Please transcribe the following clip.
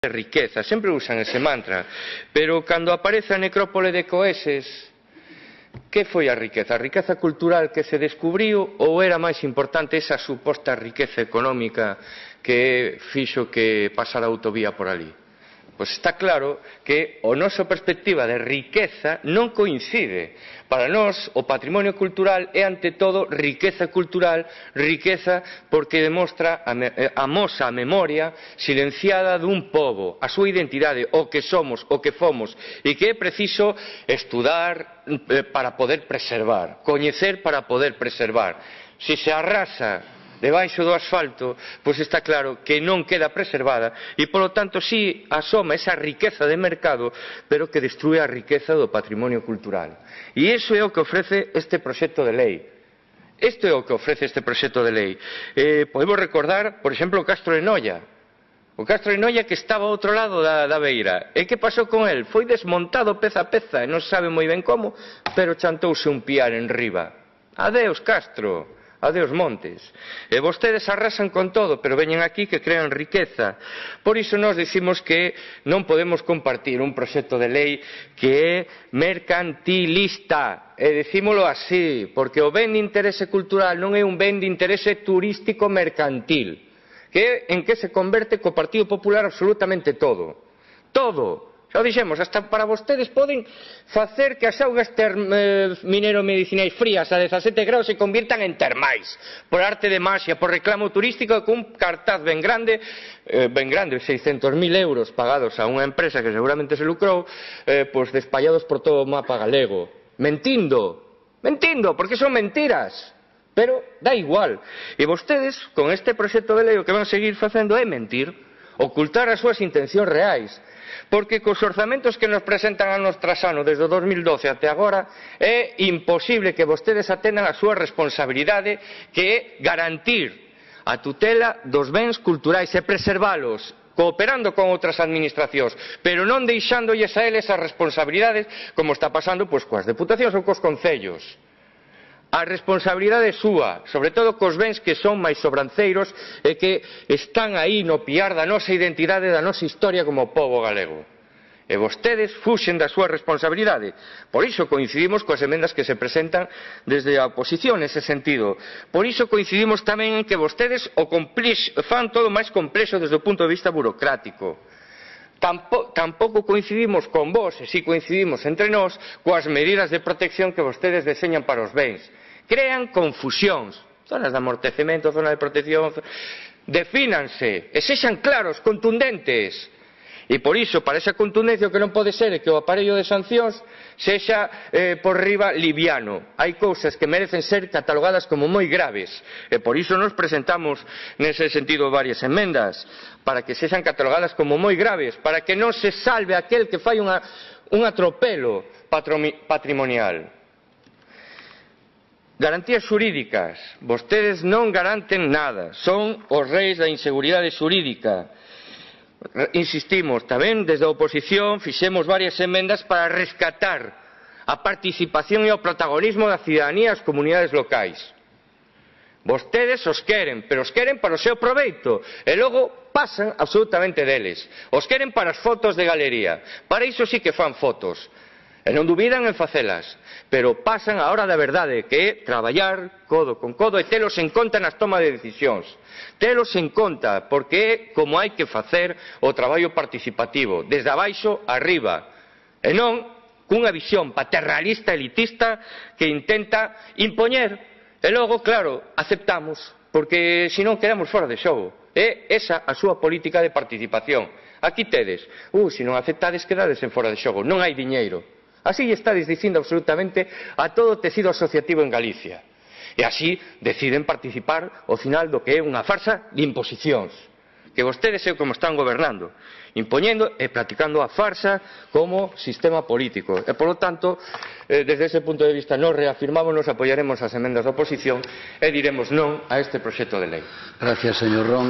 riqueza, sempre usan ese mantra, pero cando aparece a necrópole de Coeses, que foi a riqueza? A riqueza cultural que se descubriu ou era máis importante esa suposta riqueza económica que fixo que pasara a autovía por ali? Pois está claro que a nosa perspectiva de riqueza non coincide. Para nós, o patrimonio cultural é, ante todo, riqueza cultural, riqueza porque demostra, amosa a memoria silenciada dun pobo, a súa identidade, o que somos, o que fomos, e que é preciso estudar para poder preservar, coñecer para poder preservar. Se se arrasa debaixo do asfalto, pois está claro que non queda preservada e, polo tanto, si asoma esa riqueza de mercado, pero que destrúe a riqueza do patrimonio cultural. E iso é o que ofrece este proxecto de lei. Isto é o que ofrece este proxecto de lei. Podemos recordar, por exemplo, o Castro de Noia. O Castro de Noia que estaba ao outro lado da beira. E que pasou con el? Foi desmontado peza a peza, e non sabe moi ben como, pero chantouse un piar en riba. Adeus, Castro. Adeus, montes. E vostedes arrasan con todo, pero veñen aquí que crean riqueza. Por iso nós dicimos que non podemos compartir un proxecto de lei que é mercantilista. E dicímolo así, porque o ben de interese cultural non é un ben de interese turístico mercantil, que é en que se converte co Partido Popular absolutamente todo. Todo. Xa o dixemos, hasta para vostedes poden facer que as augas minero-medicinais frías a 17 graus se convirtan en termais, por arte de maxia, por reclamo turístico, con un cartaz ben grande, 600.000 euros pagados a unha empresa que seguramente se lucrou, pois despallados por todo o mapa galego. Mentindo, porque son mentiras. Pero dá igual. E vostedes, con este proxecto de lei, o que van seguir facendo é mentir, ocultar as súas intencións reais. Porque cos orzamentos que nos presentan ano tras ano desde o 2012 até agora é imposible que vostedes atendan a súa responsabilidade, que é garantir a tutela dos bens culturais e preservalos, cooperando con outras administracións, pero non deixándolles a eles as responsabilidades como está pasando pois coas deputacións ou cos concellos. A responsabilidade é súa, sobre todo cos bens que son máis sobranceiros e que están aí no piar da nosa identidade, da nosa historia como pobo galego. E vostedes fuxen da súa responsabilidade. Por iso coincidimos coas emendas que se presentan desde a oposición nese sentido. Por iso coincidimos tamén en que vostedes fan todo máis complexo desde o punto de vista burocrático. Tampouco coincidimos con vos, e si coincidimos entre nós, coas medidas de protección que vostedes deseñan para os bens. Crean confusións, zonas de amortecemento, zona de protección, defínanse, e sexan claros, contundentes. E por iso, para esa contundencia, o que non pode ser é que o aparello de sancións sexa por riba liviano. Hai cousas que merecen ser catalogadas como moi graves, e por iso nos presentamos nese sentido varias emendas, para que sexan catalogadas como moi graves, para que non se salve aquel que fai un atropelo patrimonial. Garantías xurídicas. Vostedes non garanten nada, son os reis da inseguridade xurídica. Insistimos, tamén desde a oposición fixemos varias emendas para rescatar a participación e o protagonismo da cidadanía e as comunidades locais. Vostedes os queren, pero os queren para o seu proveito, e logo pasan absolutamente deles. Os queren para as fotos de galería, para iso sí que fan fotos, e non dubidan en facelas, pero pasan a hora da verdade, que é traballar codo con codo e telos en conta nas tomas de decisións. Telos en conta, porque é como hai que facer o traballo participativo, desde abaixo arriba, e non cunha visión paternalista, elitista, que intenta impoñer, e logo, claro, aceptamos, porque senón quedamos fora de xogo. É esa a súa política de participación. Aquí tedes, se non aceptades quedades en fora de xogo, non hai diñeiro. Así estades dicindo absolutamente a todo o tecido asociativo en Galicia. E así deciden participar ao final do que é unha farsa de imposicións. Que vostedes é como están gobernando, impoñendo e practicando a farsa como sistema político. E, polo tanto, desde ese punto de vista, nos reafirmamos, apoiaremos as emendas da oposición e diremos non a este proxecto de lei. Gracias, señor Ron.